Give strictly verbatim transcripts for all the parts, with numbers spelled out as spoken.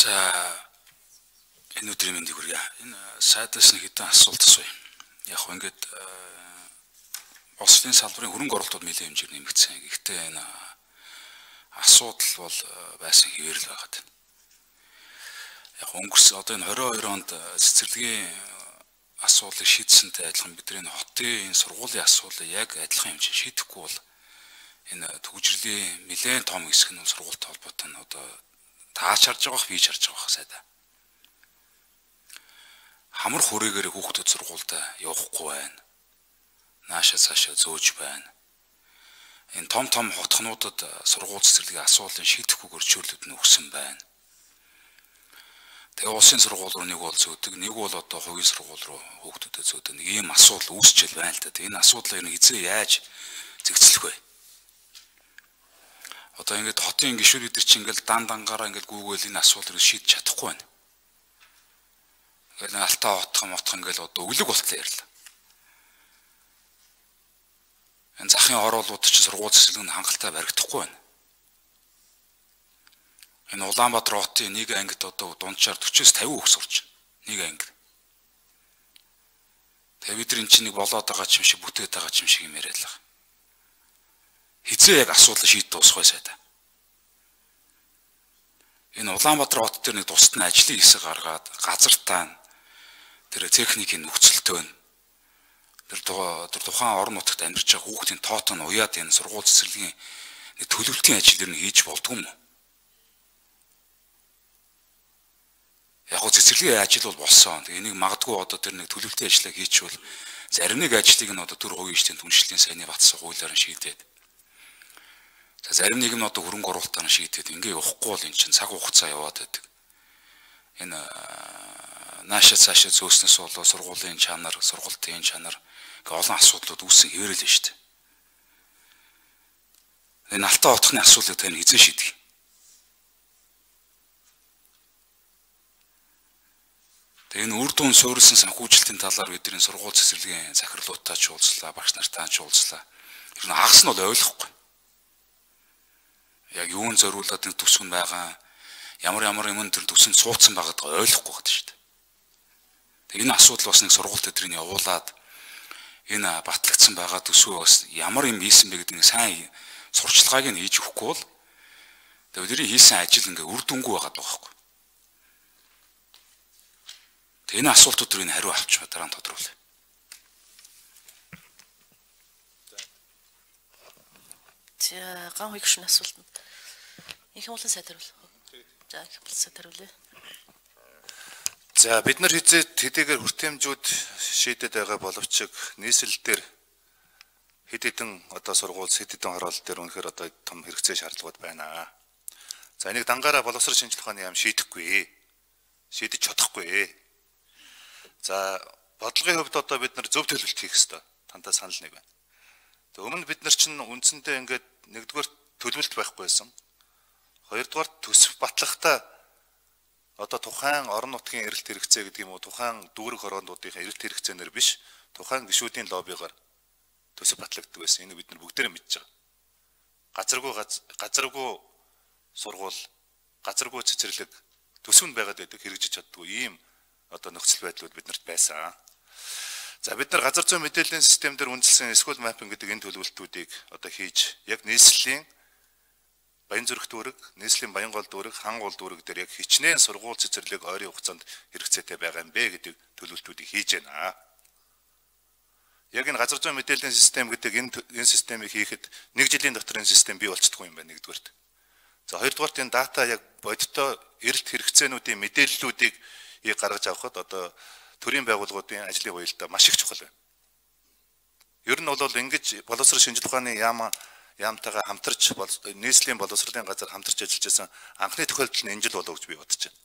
За энэ өдрийн мэндийг хүргье. Энэ сайдаас нэг хэдэн асуулт асууя. Яг хөө ингээд Улсын салбарын хөрөнгө оруулалтууд нэлээд хэмжээр нэмэгдсэн. Гэхдээ энэ асуудал бол байсан хэвээр л байгаад байна. Яг өнгөрсөн одоо энэ двадцать двадцать онд цэцэрлэгийн асуудлыг шийдсэнтэй адилхан бидний хотын энэ сургуулийн асуудлыг яг адилхан хэмжээнд шийдэхгүй бол энэ төгжрлийн нэлээд том хэсэг нь сургуультай холбоотой нь одоо таач харж байгаах бий харж байгаах сайдаа. Хамар хүрээгээр хүүхдүүд сургуультай явахгүй байна. Наашаа цаашаа зөөж байна. Энэ том том хотхнуудад сургууль цэцэрлэгийн асуудлыг шийдэхгүйгээр чөрлөд нь өгсөн байна. Тэгээ улсын сургууль руу нэг бол зөөдөг, нэг бол одоо хувийн сургууль руу хүүхдүүдэд зөөдөг. Нэг ийм асуудал үүсчил байна л да. Энэ асуудлыг нь хизээ яаж зэгцлэх вэ? Одоо ингээд хотын гишүүд бид нар чинь ингээд дан дангаараа ингээд гүүгээл энэ асуудлыг шийдэж чадахгүй байна. Ингээд алтаа отох мотох ингээд одоо өглөг болтлоо ярьлаа. Энэ захын ороолууд ч сургууль цэцэрлэг нь хангалттай баригдахгүй байна. Энэ Улаанбаатар хотын нэг ангид одоо дунджаар forty-с fifty хүүхд сурч байна. Нэг анги. Тэгээ бид нар эн чинь нэг болоод байгаа юм шиг бүтээд байгаа юм шиг юм яриад л. Хизээ яг асуудал шийдэж дуусах байсаа та. Энэ Улаанбаатар хот дээр нэг тусад нь ажлын хэсэг гаргаад газартаа тэр техникийн нөхцөлтөө нь тэр тухайн орон нутагт амьдарч байгаа хүүхдийн тоот нь уяад энэ сургууль цэцэрлэгийн нэг төлөвлөлтийн ажил нь хийж болдгүй юм уу? Яг гоо цэцэрлэгийн ажил бол болсон. Тэгээ энийг магадгүй одоо тэр нэг төлөвлөлтийн ажлыг хийчихвэл зарим нэг ажлыг нь одоо төр хувийн эжлийн түншлэлийн сайнны батсан хуулиар нь шийдээд. За зарим нэг нь одоо хөрөнгө оруулалтаар нь шийдээд ингээ явахгүй бол эн чинь цаг хугацаа яваад байдаг. Энэ наашаа цаашаа зөөснөөс болоо сургуулийн чанар, сургалтын чанар гэх олон асуудлууд үүссэн хэвээрэл нь шүү дээ. Энэ алтаа отохны асуудлыг тань эзэн шийдэх. Тэгээ энэ үр дүн суурилсан санхүүжилтийн талаар бидний сургууль цэцэрлэгийн захирлуудтай ч уулзлаа, багш нартай ч уулзлаа. Тэр нь хагас нь бол ойлгохгүй. Яг юунд зориулаад нэг төсөв байгаа, ямар ямар юм тэр төсөнд суудсан байгаад ойлгохгүй байдаг шүү дээ. Тэгээ энэ асуудал бас нэг сургууль тэдрийг явуулаад энэ батлагдсан байгаа төсөө бас ямар юм хийсэн бэ гэдэг нэг сайн сурчлагыг нь хийж өгөхгүй бол тэгээ бидний хийсэн ажил ингээ үр дүнгүй байгаад байгаа байхгүй. Тэгээ энэ асуултуудыг хариу авч дараа нь тодруулъя. За ган хүйг шин асуулт нь. Их хэмлэн сайдаруул. За их хэмлэн сайдаруулъя. За бид нар хизээд хэдийгээр хүртээмжүүд шийдэд байгаа боловч нийслэл дээр хэд хэдэн одоо сургууль хэд хэдэн хороолол дээр үнэхээр одоо том хэрэгцээ шаардлагууд байна. За энийг дангаараа боловсрол шинжилгээ ухааны яам шийдэхгүй. Шийдэж чадахгүй. За бодлогын хувьд одоо бид нар зөв төлөвлөлт хийх ёстой. Тантаа санал нэг байна. Тэг өмнө бид нар чинь үндсэндээ ингээд нэгдүгээр төлөвлөлт байхгүй байсан. Хоёрдугаар төсөв батлахтаа одоо тухайн орон нутгийн эрэлт хэрэгцээ гэдэг юм уу тухайн дүүрэг хороондуудын эрэлт хэрэгцээнээр биш тухайн гишүүдийн лоббигаар төсөв батлагддаг байсан. Энийг бид нар бүгдээрээ мэдж байгаа. Газаргүй газаргүй сургууль, газаргүй цэцэрлэг төсөв нь байгаад байдаг хэрэгжиж чаддгүй ийм одоо нөхцөл байдлууд биднэрт байсан. За бид нар газар зүйн мэдээллийн систем дээр үндэслэн эсхүүл маппинг гэдэг энэ төлөвлөлтүүдийг одоо хийж яг нийслэлийн Баянзүрх дүүрэг, нийслэлийн Баянгол дүүрэг, Хангол дүүрэг дээр яг хичнээн сургууль цэцэрлэг ойрын хугацаанд хэрэгцээтэй байгаа юм бэ гэдэг төлөвлөлтүүдийг хийж байна. Яг энэ газар зүйн мэдээллийн систем гэдэг энэ энэ системийг хийхэд нэг жилийн дотор энэ систем бий болчихдгүй юм байна нэгдүгээрт. За хоёрдугаарт энэ дата яг бодиттой эрэлт хэрэгцээнүүдийн мэдээллүүдийг гаргаж авахд одоо төрийн байгууллагуудын ажлын уялдаа маш их чухал байна. Ер нь бол ингэж боловсрол шинжилгээ ухааны яам яамтайгаа хамтарч нийслэлийн боловсролын газар хамтарч ажиллаж байсан анхны тохиолдол нь энэ жил болов гэж би бодож байна.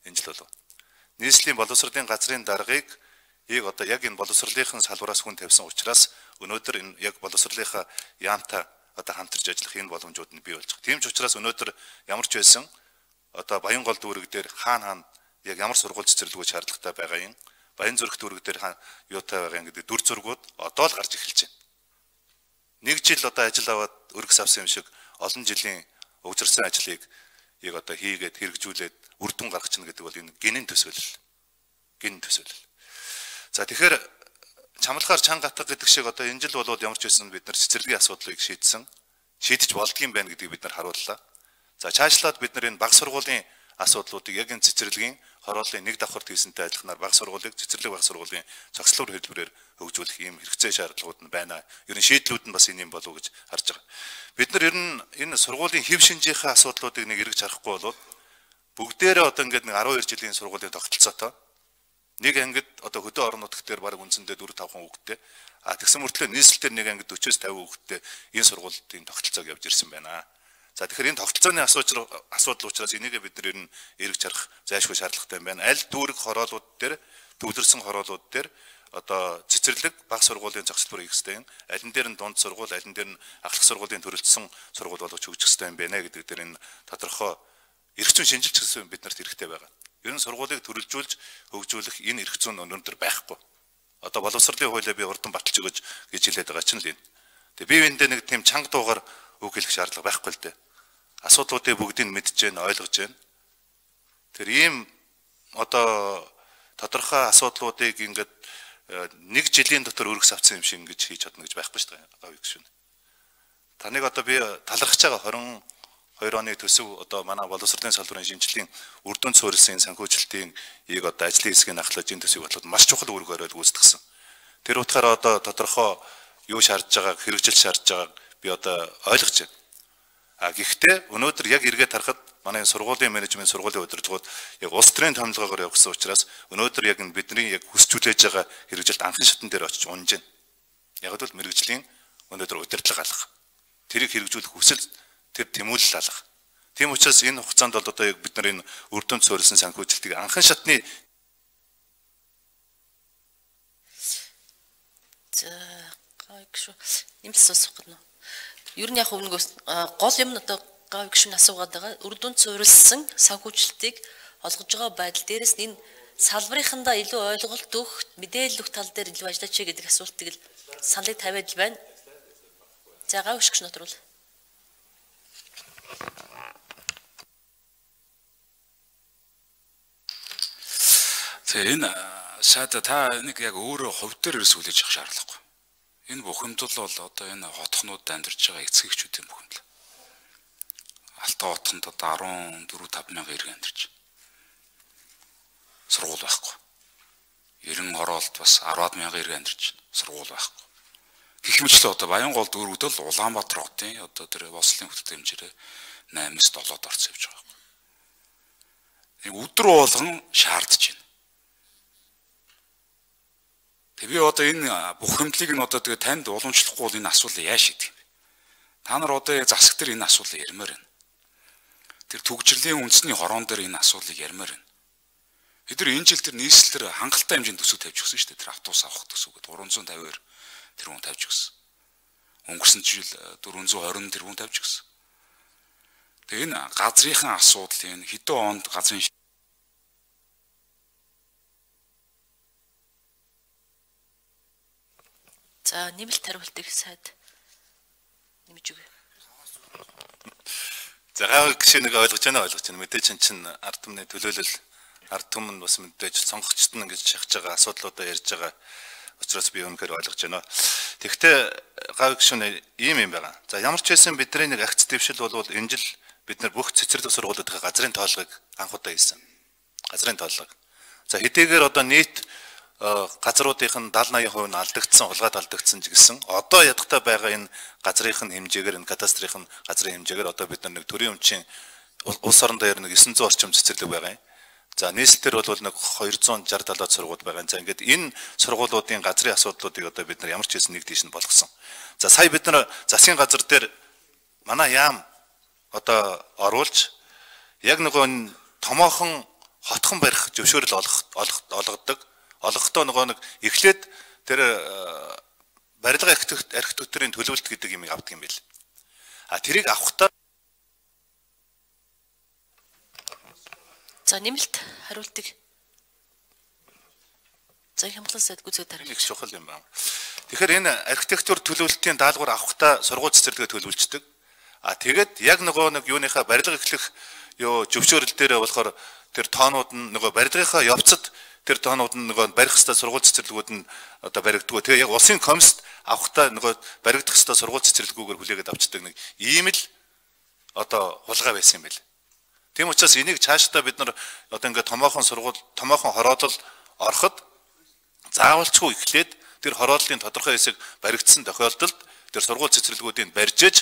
Энэ жил болов. Нийслэлийн боловсролын газрын даргаыг яг одоо яг энэ боловсролынхын салбараас хүн тавьсан учраас өнөөдөр энэ яг боловсролынхаа яамтай одоо хамтарч ажиллах энэ боломжууд нь бий болж байгаа. Тийм ч учраас өнөөдөр ямар ч байсан одоо Баянгол дүүрэг дээр хаана хаана яг ямар сургууль цэцэрлэгүүд шаардлагатай байгаа юм. Баянзүрх дүүрэг дээр юутай байгаа юм гэдэг дүр зургууд одоо л гарч эхэлж байна. Нэг жил одоо ажил аваад өргөс авсан юм шиг олон жилийн өгзөрсөн ажлыг ийг одоо хийгээд хэрэгжүүлээд үр дүн гаргах чинь гэдэг бол энэ гинэн төсөөлөл. Гинэн төсөөлөл. За тэгэхээр чамлахаар чанга гатга гэдэг шиг одоо энэ жил бол ямар ч байсан бид нар цэцэрлэгийн асуудлыг шийдсэн. Шийдэж болдгийм байна гэдгийг бид нар харууллаа. За цаашлаад бид нар энэ баг сургуулийн асуудлуудыг яг энэ цэцэрлэгийн хорооллын нэг давхарт хийсэнтэй адилханаар баг сургуулийг цэцэрлэг баг сургуулийн цогцлоор хэлбэрээр хөгжүүлэх ийм хэрэгцээ шаардлагууд нь байна. Ер нь шийдлүүд нь бас энэ юм болов уу гэж харж байгаа. Бид нар ер нь энэ сургуулийн хэв шинжийнхаа асуудлуудыг нэг эргэж харахгүй бол бүгдээрээ одоо ингээд нэг арван хоёр жилийн сургуулийн тогтолцоотой нэг ангид одоо хөдөө орон нутгт дээр баг үндсэндээ дөрөв тавхан хүүхэдтэй а тэгсэн мөртлөө нийслэлээр нэг ангид форм тавин хүүхэдтэй энэ сургуулийн тогтолцоог явж ирсэн байна. За тэгэхээр энэ тогтолцооны асуудал асуудал учраас энийг бид нар ер нь эргэж харах зайлшгүй шаардлагатай юм байна. Аль дүүрэг хороолууд дээр төвлөрсөн хороолууд дээр одоо цэцэрлэг баг сургуулийн зохицол бүр хийх хэрэгтэй юм. Аль нь дээр нь дунд сургууль, аль нь дээр нь ахлах сургуулийн төрөлдсөн сургууль болгож хөгжих хэрэгтэй юм байна гэдэг дээр энэ тодорхой эрх зүйн шинжилж гэсэн биднэрт хэрэгтэй байгаа. Ер нь сургуулийг төрөлжүүлж хөгжүүлэх энэ эрх зүйн өнөөдөр байхгүй. Одоо боловсролын хуулиа би урдан баталж өгöj гэж хэлээд байгаа чинь л энэ. Тэгээ бие биендээ нэг тийм чанга дуугаар үг хэлэх шаардлага байхгүй л дээ. Асуудлуудыг бүгдийг мэдж байна, ойлгож байна. Тэр ийм одоо тодорхой асуудлуудыг ингээд нэг жилийн дотор өргөс авсан юм шиг ингэж хийж чадна гэж байхгүй шүү дээ. Гавь гүшүүн. Таныг одоо би талархаж байгаа двадцать хоёр оны төсөв одоо манай боловсролын салбарын шинжилгээний үр дүн суурилсан санхүүжилтийн ийг одоо ажлын хэсгийн ахлаж энэ төсөв болоод маш чухал үүрэг бариад гүйцэтгсэн. Тэр утгаараа одоо тодорхой юу шаардж байгааг хэрэгжил шаардж байгааг би одоо ойлгож байна. А гэхдээ өнөөдөр яг эргээд харахад манай сургуулийн менежмент сургуулийн удирдлагууд яг улс төрийн томилгоогоор явсан учраас өнөөдөр яг бидний яг хүсчүүлж байгаа хэрэгжилт анхны шатн дээр очиж унж байна. Яг л мэрэгжлийн өнөөдөр удирдлага алга. Тэрийг хэрэгжүүлэх хүсэл тэр тэмүүлэл алга. Тийм учраас энэ хугацаанд бол одоо яг бид нар энэ үр дүнд суурилсан санхүүжилтийг анхан шатны за гайг шүү. Нэмэлт сонсох гэнэ. Ер нь яг нэг гол юм нь одоо гайг шүү асуугаад байгаа. Үр дүнд суурилсан санхүүжилтийг олгож байгаа байдал дээрээс нь энэ салбарынхандаа илүү ойлголт өгөх, мэдээлэл өгөх тал дээр илүү ажиллаач гэдэг асуултыг л саналыг тавиад л байна. За гайг шүү нотруул. Тэгээ энэ сайда та нэг яг өөрөө хувь дээр сүлээж явах шаардлагагүй. Энэ бухимдал бол одоо энэ хотхнууд амьдарч байгаа эцэгчүүдийн бухимдал. Алтан хотхонд одоо арван дөрвөн таван мянган иргэн амьдарч. Сургууль байхгүй. Ерэн хороолт бас арваад мянган иргэн амьдарч. Сургууль байхгүй. Гэх мэтлээ одоо Баянгол дүүргүүд л Улаанбаатар хотын одоо тэр бослын хөтөлбөр хэмжээрээ наймаас долоод орц явж байгаа. Нэг өдөр болгон шаардж байна. Тэг би одоо энэ бухимдлыг нь одоо тэгээ танд уламжлахгүй бол энэ асуудлыг яаж шийдэх юм бэ? Та нар одоо засаг дээр энэ асуудлыг ярмаар байна. Тэр түгжирлийн үндэсний хорон дээр энэ асуудлыг ярмаар байна. Бид нар энэ жил тэр нийслэлээр хангалттай хэмжээнд төсөв тавьж өгсөн шүү дээ. Тэр автобус авах төсөв гэдэг гурван зуун тавин хоёр тэрбум тавьж өгсөн. Өнгөрсөн жил дөрвөн зуун хорин тэрбум тавьж өгсөн. Тэгээ энэ газрынхаа асуудал энэ хэдэн онд газрын за нэмэлт хариултыг сайд нэмж өгье. За гайг гişэнийг ойлгож байна ойлгож байна. Мэдээж чинь ард түмний төлөөлөл ард түмэн бас мэдээж сонгогчд нь ингэж шахаж байгаа асуудлуудаа ярьж байгаа учраас би үнэхээр ойлгож байна. Тэгэхдээ гайг гişүн ийм юм байгаа. За ямар ч байсан бидний нэг акц дэвшил бол энэ жил бид нар бүх цэцэрлэг сургуулиудын газрын тоолгыг анх удаа хийсэн. Газрын тоолго. За хэдийгээр одоо нийт газруудын даатгалын найман хувь нь алдагдсан, улгаад алдагдсан ч гэсэн одоо ядахтай байгаа энэ газрын хэмжээгээр энэ кадастрын газрын хэмжээгээр одоо бид нар нэг төрийн өмчийн улс орон дээр нэг девять hundred орчим цэцэрлэг байгаа юм. За нийслэлээр бол нэг two sixty seventy сургууль байгаа. За ингээд энэ сургуулиудын газрын асуудлуудыг одоо бид нар ямар ч хэсэн нэг тийш нь болгосон. За сая бид нар засгийн газар дээр манай яам одоо оруулж яг нөгөө томоохон хотхон барих зөвшөөрөл олох олгодог. Олгохдоо нөгөө нэг эхлээд тэр барилга архитектурын төлөвлөлт гэдэг юмыг авдаг юм байл. А тэрийг авахдаа за нэмэлт хариултыг за хямглан сайд гүцэд тарих их чухал юм байна. Тэгэхээр энэ архитектур төлөвлөлтийн даалгавар авахдаа сургууль цэцэрлэгээ төлөвлөждөг. А тэгээд яг нөгөө нэг юуныхаа барилга эхлэх ёо зөвшөөрөл дээрээ болохоор тэр тоонууд нь нөгөө барилгынхаа явцад тэр тоонууд нь нөгөө барих хэвээр сургууль цэцэрлэгүүд нь одоо баригддаг. Тэгээ яг улсын комист авахтаа нөгөө баригдах хэвээр сургууль цэцэрлэгүүгээр хүлээгээд авчдаг нэг ийм л одоо хулгай байсан юм байл. Тийм учраас энийг цаашдаа бид нар одоо ингээд томоохон сургууль, томоохон хороолол ороход заавалчгүй эхлээд тэр хорооллын тодорхой хэсэг баригдсан тохиолдолд тэр сургууль цэцэрлэгүүдийг барьж ээж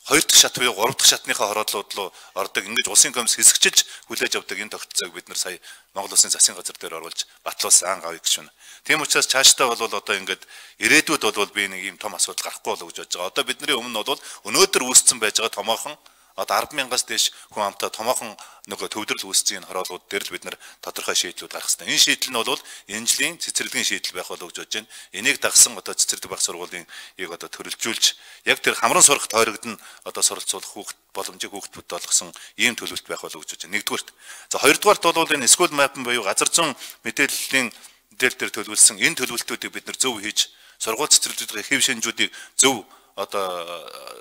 хоёр дахь шат буюу гурав дахь шатныхаа хорооллууд руу ордог. Ингэж улсын комисс хэсэгчилж хүлээж авдаг энэ тогтолцоог бид нар сая Монгол Улсын засгийн газар дээр оруулж батлуулсан гавь гişүн. Тийм учраас цаашдаа бол одоо ингээд ирээдүйд бол би нэг ийм том асуудал гарахгүй болов гэж бодож байгаа. Одоо бидний өмнө бол өнөөдөр үүссэн байж байгаа томоохон одоо арван мянгаас дээш хүн амтай томоохон нөгөө төвлөрөл үүссэн хороолууд дээр л бид нар тодорхой шийдлүүд гаргах хэрэгтэй. Энэ шийдэл нь бол энэ жилийн цэцэрлэгийн шийдэл байх болов гэж бодож байна. Энийг дагсан одоо цэцэрлэг баг сургуулийн ийг одоо төрөлжүүлж яг тэр хамран сурах тойрогд нь одоо суралцуулах хүүхд боломжийг хүүхдүүд болгосон ийм төлөвлөлт байх болов гэж бодож байна. Нэгдүгürt. За хоёрдугаарт бол энэ school map буюу газар зүйн мэдээллийн дээр дээр төлөвлөсөн энэ төлөвлөлтүүдийг бид нар зөв хийж сургууль цэцэрлэгүүдийн хэв шинжүүдийг зөв одоо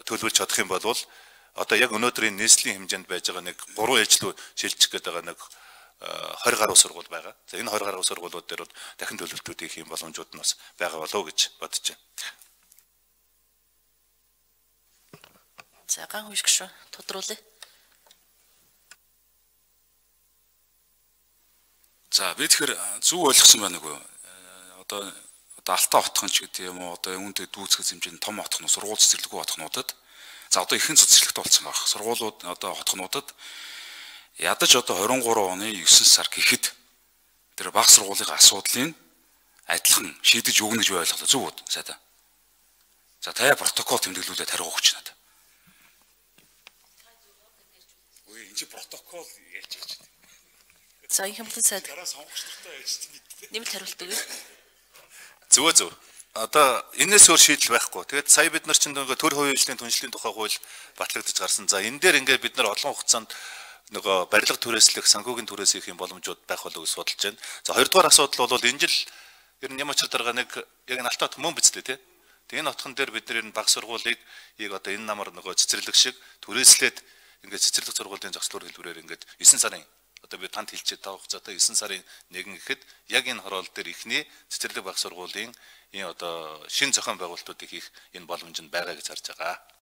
төлөвлөж чадах юм бол одоо яг өнөөдрийн нийслэлийн хэмжээнд байж байгаа нэг гурван ээлжлүү шилжих гээд байгаа нэг двадцать гаруй сургууль байгаа. За энэ двадцать гаруй сургуулиуд дээр бол дахин төлөвлөлтүүд хийх юм боломжууд нь бас байгаа болов гэж бодож байна. За ган хүйшг шүү. Тодруулъя. За би тэгэхээр зөв ойлгосон байна уу? Одоо одоо Алтан хотхон ч гэдэг юм уу одоо үүнтэй дүүцэх хэмжээний том хотхон сургууль цэцэрлэггүй хотхнуудад за одоо ихэнх цэцэрлэгт болсон байх. Сургуулиуд одоо хотхнуудад ядаж одоо двадцать три оны девятнадцать сар гэхэд тэр баг сургуулийн асуудлыг адилхан шийдэж өгнө гэж ойлголоо. Зөв үү? Сайдаа. За таяа протокол тэмдэглүүлээд хариу өгч надад. Үй энэ чи протокол ялж байгаа ч. За энэ хэмтэн сайд. Дараа сонгогчдортой ярьж мэдээ. Нэмэлт хариулт өгье. Зөвөө зөв. Одоо энэс өөр шийдэл байхгүй. Тэгээд сая бид нар чинь нөгөө төр хувийн түншлэлийн тухай хууль батлагдаж гарсан. За энэ дээр ингээд бид нар олон хугацаанд нөгөө барилга түрээслэх, санхүүгийн түрээс хийх юм боломжууд байх болов гэж судалж байна. За хоёрдугаар асуудал бол энэ жил ер нь Ямачар дарга нэг яг энэ Алтан хот мөн биз дээ тий. Тэгээд энэ хотхон дээр бид нар энэ баг сургуулийг яг одоо энэ намар нөгөө цэцэрлэг шиг түрээслээд ингээд цэцэрлэг сургуулийн зохицлоор хэлбэрээр ингээд девять сарын одоо би танд хэлчихэд тавах цаатаа девять сарын нэгэн гэхэд яг энэ хороол дээр ихний цэцэрлэг баг сургуулийн энэ одоо шин зохион байгуулалтуудыг хийх энэ боломж нь байгаа гэж харж байгаа.